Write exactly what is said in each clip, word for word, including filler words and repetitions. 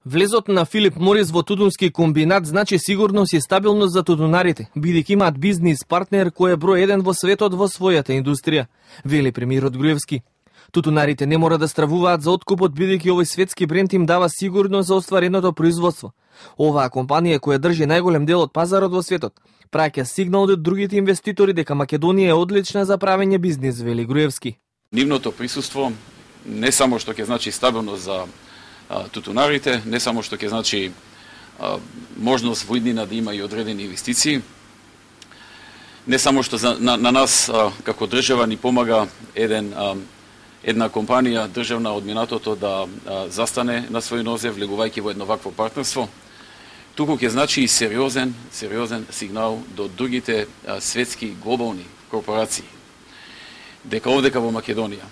Влезот на Филип Морис во тутунски комбинат значи сигурност и стабилност за тутунарите, бидејќи имаат бизнис партнер кој е број еден во светот во својата индустрија, вели премиерот Груевски. Тутунарите не мора да стравуваат за откупот бидејќи овој светски бренд им дава сигурност за оствареното производство. Оваа компанија која држи најголем дел од пазарот во светот, праќа сигнал до другите инвеститори дека Македонија е одлична за правење бизнис, вели Груевски. Нивното присуство не само што ќе значи стабилност за а, тутунарите, не само што ќе значи а, можност во иднина да има и одредени инвестиции, не само што за, на, на нас а, како држава ни помага еден а, една компанија државна од минатото да а, застане на свој нозе влегувајќи во едно вакво партнерство, туку ќе значи и сериозен, сериозен сигнал до другите а, светски глобални корпорации дека овдека во Македонија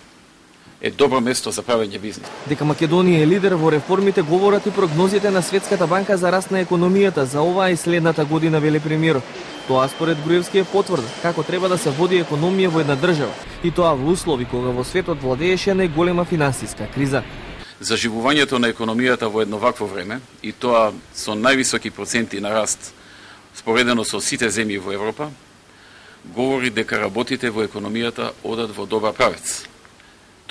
е добро место за правење бизнис. Дека Македонија е лидер во реформите говорат и прогнозите на Светската банка за раст на економијата за оваа и следната година, вели премиерот. Тоа според Груевски е потврда како треба да се води економија во една држава, и тоа во услови кога во светот владееше најголема финансиска криза. Заживувањето на економијата во едно вакво време, и тоа со највисоки проценти на раст споредено со сите земји во Европа, говори дека работите во економијата одат во добар правец.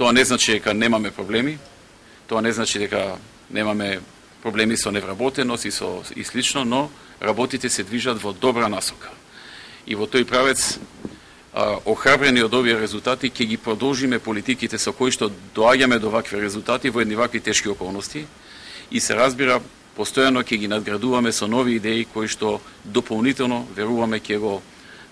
Тоа не значи дека немаме проблеми, тоа не значи дека немаме проблеми со невработеност и со и слично, но работите се движат во добра насока. И во тој правец, а, охрабрени од овие резултати, ќе ги продолжиме политиките со кои што доаѓаме до вакви резултати во едни вакви тешки околности и се разбира, постојано ќе ги надградуваме со нови идеи кои што дополнително веруваме ќе го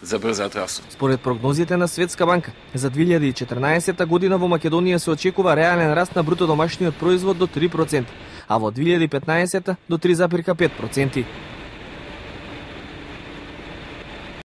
забрзаат растот. Според прогнозите на Светска банка, за две илјади и четрнаесетта година во Македонија се очекува реален раст на бруто домашниот производ до три проценти, а во две илјади и петнаесетта до три зарез и пет проценти.